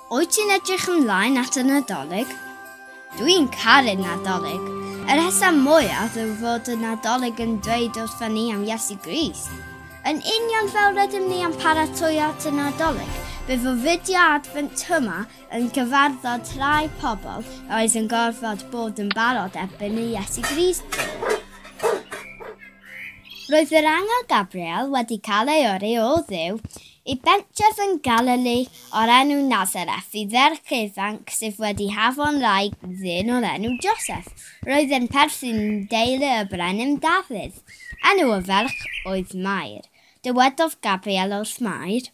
Wyt ti'n edrych ymlaen at y Nadolig? Dwi'n caru'r Nadolig. Y rheswm mwyaf yw fod y Nadolig yn dweud wrthon ni am Iesu Grist. Yn union fel rydym ni am paratoi at y Nadolig, bydd y fideo adfent yma yn cyfarfod rhai pobl oedd yn gorfod bod yn barod erbyn i Iesu Grist. Roedd yr angel Gabriel wedi cael ei yrru o Dduw i bentref yn Galili o'r enw Nazareth i ferch ifanc sydd wedi hafon wraig ddyn o'r enw Joseph. Roedd yn perthyn deulu y brenin Dafydd. Enw y ferch oedd Mair. Dywedodd Gabriel wrth Mair,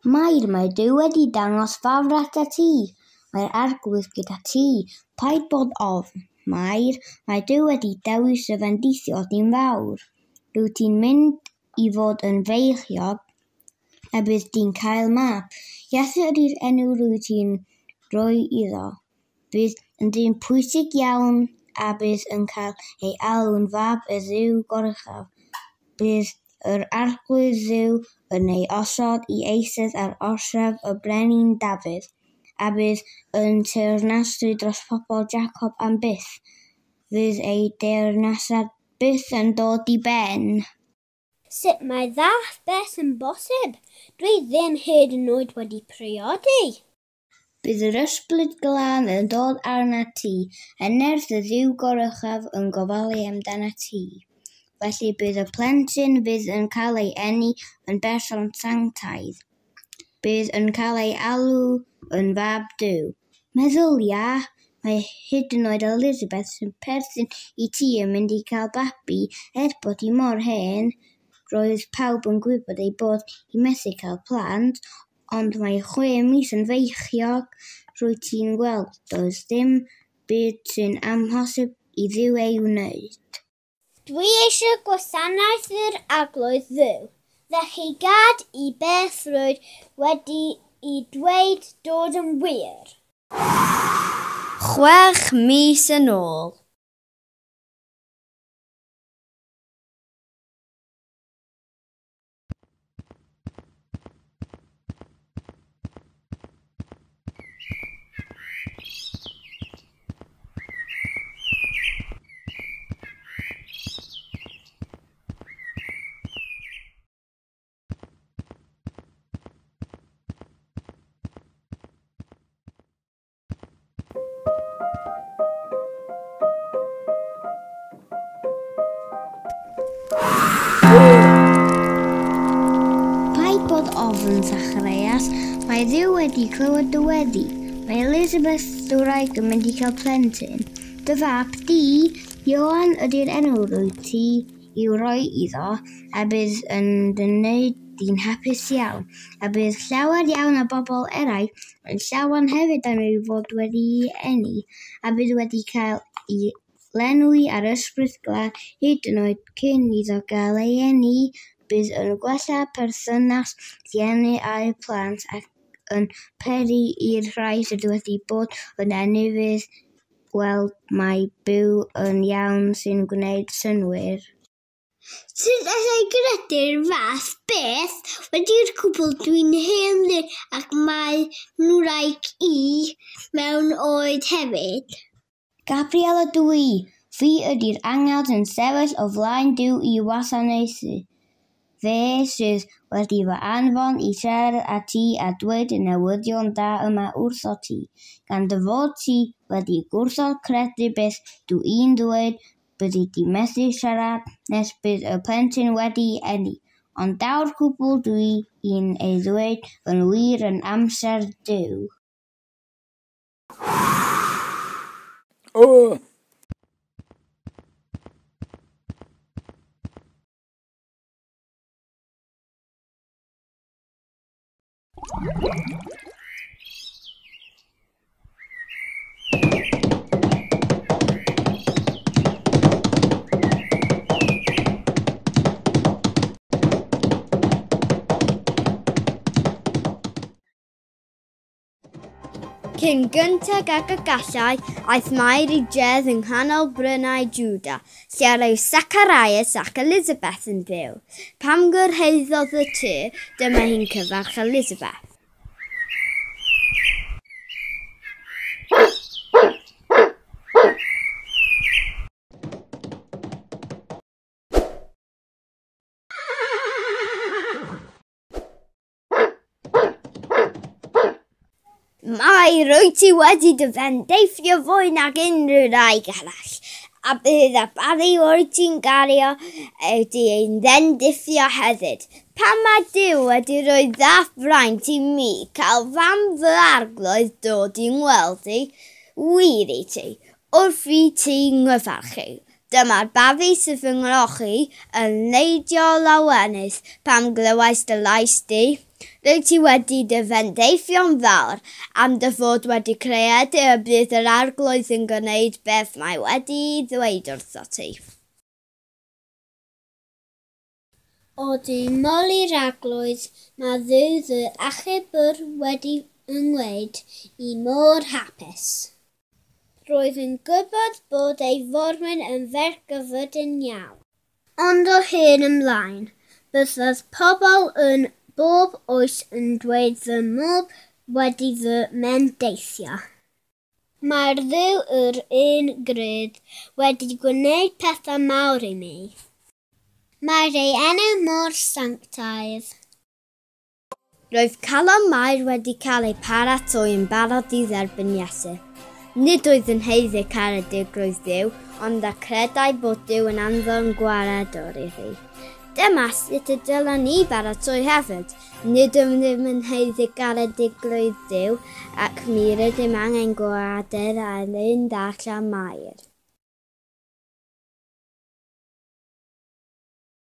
Mair, mae Duw wedi dangos ffafr atat ti. Mae'r Arglwydd gyda ti. Paid bod ofn. Mair, mae Duw wedi dewis y fendithio di'n fawr. Rwyt ti'n mynd i fod yn feichiog a bydd di'n cael mab. Iesu ydy'r enw rwyt ti'n rhoi iddo. Bydd yn dyn pwysig iawn a bydd yn cael ei alw'n fab y Dduw Goruchaf. Bydd yr Arglwydd Dduw yn ei osod i eistedd ar orsaf y brenin Dafydd, a bydd yn teyrnasu dros pobl Jacob am byth. Fydd ei deyrnasiad byth yn dod i ben. Sut mae fath beth yn bosib? Dwi ddim hyd yn oed wedi priodi. Bydd yr Ysbryd Glân yn dod arnat ti, a nerth y Dduw Goruchaf yn gofalu amdanat ti. Felly bydd y plentyn fydd yn cael ei eni yn berson sanctaidd. Bydd yn cael ei alw yn fab Duw. Meddylia, mae hyd yn oed Elizabeth sy'n perthyn i ti yn mynd i cael babi er bod hi mor hen. Roedd pawb yn gwybod ei bod hi methu cael plant, ond mae 6 mis yn feichiog. Rwyt ti'n gweld, does dim byd sy'n amhosib i Dduw ei wneud. Dwi eisiau gwasanaethu'r Arglwydd Dduw, felly gad i beth rwyt wedi i dweud dod yn wir. 6 mis yn ôl. Paid bod ofn, Zacharias, mae Dduw wedi clywed dy weddi. Mae Elizabeth dy wraig yn mynd i cael plentyn. Dy fab di, Ioan, ydy'r enw rwyt ti i'w roi iddo, a bydd yn dy wneud di'n hapus iawn, a bydd llawer iawn o bobl eraill yn llawen hefyd am ei fod wedi'i eni, a bydd wedi cael ei lenwi ar Ysbryd Glân hyd yn oed cyn iddo gael ei eni. Bydd yn gwella perthynas rhieni a'u plant ac yn peri i'r rhai sydd wedi bod yn ufudd weld mai byw yn iawn sy'n gwneud synnwyr. Sut alla i gredu'r fath beth? Wedi'r cwbl dwi'n hen ddyn ac mae ngwraig i mewn oed hefyd. Gabriel ydw i. Fi ydy'r angel sy'n sefyll o flaen Duw i wasanaethu. Fe sydd wedi fy anfon i siarad â ti a dweud y newyddion da yma wrtho ti. Gan dy fod ti wedi gwrthod credu beth dw i'n dweud, byddi di methu siarad nes bydd y plentyn wedi eni. Ond daw'r cwbl dw i'n ei ddweud yn wir yn amser Duw. Oh! Cyn gyntaf ag y gallai, aeth Mair i dref yng nghanol brynau Jwda, lle roedd Zacharias ac Elizabeth yn byw. Pan gyrhaeddodd y tŷ, dyma hi'n cyfarch Elizabeth. Mair, rwyt ti wedi dy fendithio fwy nag unrhyw wraig arall, a bydd y babi rwyt ti'n gario wedi ei fendithio hefyd. Pam mae Duw wedi rhoi fath fraint i mi cael fam fy arglwydd dod i'n weld i? Wir i ti, wrth i ti nghyfarchu. Dyma'r babi sydd fy nghrochi yn neidio lawenydd pan glywais dy lais di. Rwyt ti wedi dy fendithio'n fawr am dy fod wedi credu y bydd yr arglwydd yn gwneud beth mae wedi'i ddweud wrtho ti. Odi moli'r arglwydd, mae Dduw fy achubwr wedi fy ngwneud i mor hapus. Roedd yn gwybod bod ei forwyn yn ferch gyffredin iawn. Ond o hyn ymlaen, byddodd pobl yn bob oes yn dweud fy mod wedi fy mendithio. Mae'r Dduw yr un gred wedi gwneud pethau mawr i mi. Mae'r ei enw mor sanctaidd. Roedd calon Mair wedi cael ei paratoi yn barod i dderbyn Iesu. Nid oedd yn haeddu caredigrwydd Duw, ond a credai bod Duw yn anfon gwaredwr iddi. Dyma sut y dylen ni baratoi hefyd. Nid ydym yn haeddu caredigrwydd Duw, ac mi rydym angen gwared ar un dall a Mair.